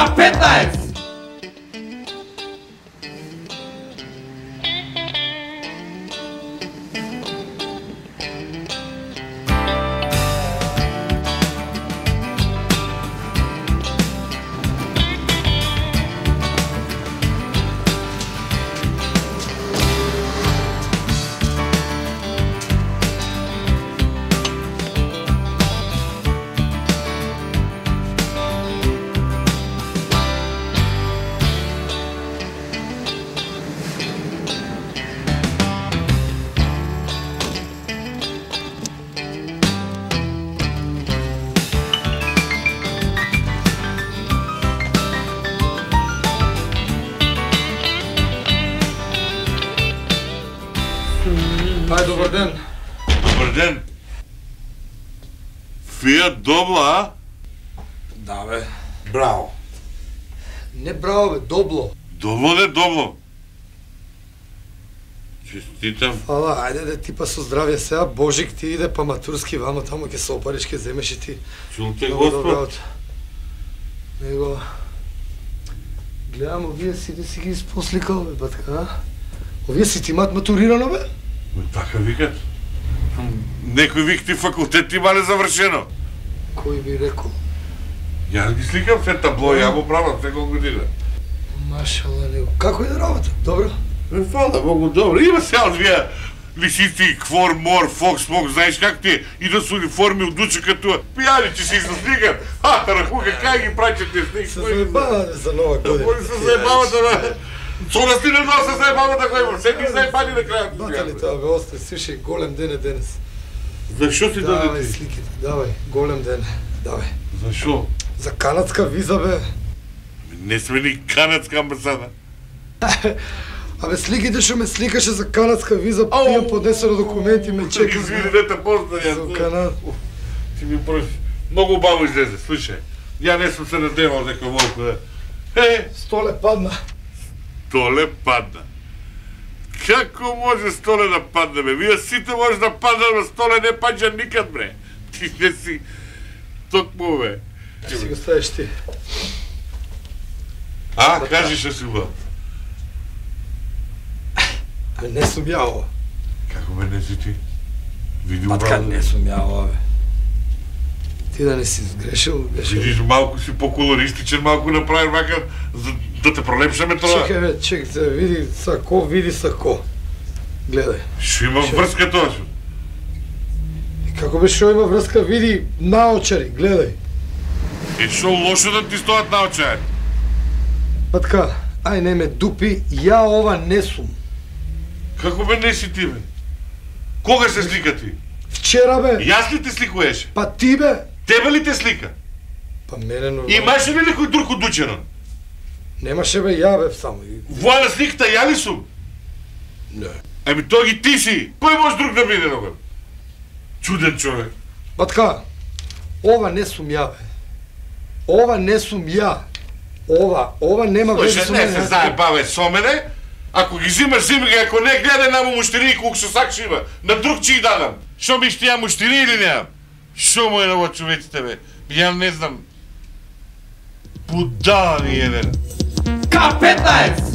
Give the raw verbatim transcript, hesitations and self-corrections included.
К петнаесет! Ај, добар ден. Добар ден. Фијат добло, а? Да, бе. Браво. Не браво, бе, добло. Добло не добло. Честитам. Фала, ајде да типа со здравје сега, Божик ти иде па матурски вамо тамо ќе се опариш, ќе земеш и ти. Чулте, Господ. Него... Гледам, овие сите си ги испосликал, бе, батка, а? Овие си ти имат матурирано, бе? Така викат. Некој вик ти факултет има незавршено. Кој би рекол? Јас ги сликам се табло, ја го правам секој година. Машала, него. Како е да работа? Добро? Ме фала, Богу, добро. Има се одвија лисици, квор, мор, фокс, мок, знаеш как ти и да се униформи од дуче като пијани, че си се сликам. А, тарахука, кај ги праќате сник? Се заебавате за нова година. Мој се заебавате, бе. Со нас ти не носа заебавата кој има. Се ти заебани на крајот. Батали тоа, бе, остай, слушај, голем ден е денес. Зашо ти даде Давај ти? сликите, давај, голем ден, давај. Зашо? За канадска виза, бе. Не сме ни канадска амбасада. Абе, сликите што ме сликаше за канадска виза, имам поднесено документи, ме чека. Извини, не те познам. За Канада. Ти ми проси. Многу убаво излезе, слушај. Ја не сум се надевал дека волко да... Е, Столе падна. Столе падна. Како може Столе да падне, бе? Вие сите може да падне, но Столе не паѓа никад, бре. Ти не си... Токму, бе. Си го ставиш ти. А, кажи што си убав. Абе, не сум ја ова. Како бе не си ти? Види Патка, убаво. не сум ја ова, бе. Ти да не си сгрешил, беше... Видиш, малку си по-колористичен, малку направи вака, за да те пролепшаме тоа. Чекај, бе, чекај, се види сако, види сако. Гледај. Шо има врска тоа шо? И како бе шо има врска, види наочари, гледај. Е, шо лошо да ти стојат наочари? Патка, ај не ме дупи, ја ова не сум. Како бе не си ти, бе? Кога се слика ти? Вчера, бе. Јас ли те сликуеше? Па ти, бе. Тебе ли те слика? Па мене нормално. Имаше ли некој друг од Дучерон? Немаше, бе, ја, бе, само. Воа сликата ја ли сум? Не. Еми тоа ги ти си. Кој може друг да биде, ногам? Чуден човек. Батка, ова не сум ја, бе. Ова не сум ја. Ова, ова нема везе Слушай, со не мене. се заебавај со мене. Ако ги зимаш, зими ги, ако не гледај на муштери колку што сакаш има. На друг ќе ги дадам. Шо ми ще ја муштери или неам? Шо му е на ово човеците, бе? Ја не знам. Будала ни еден. К петнаесет!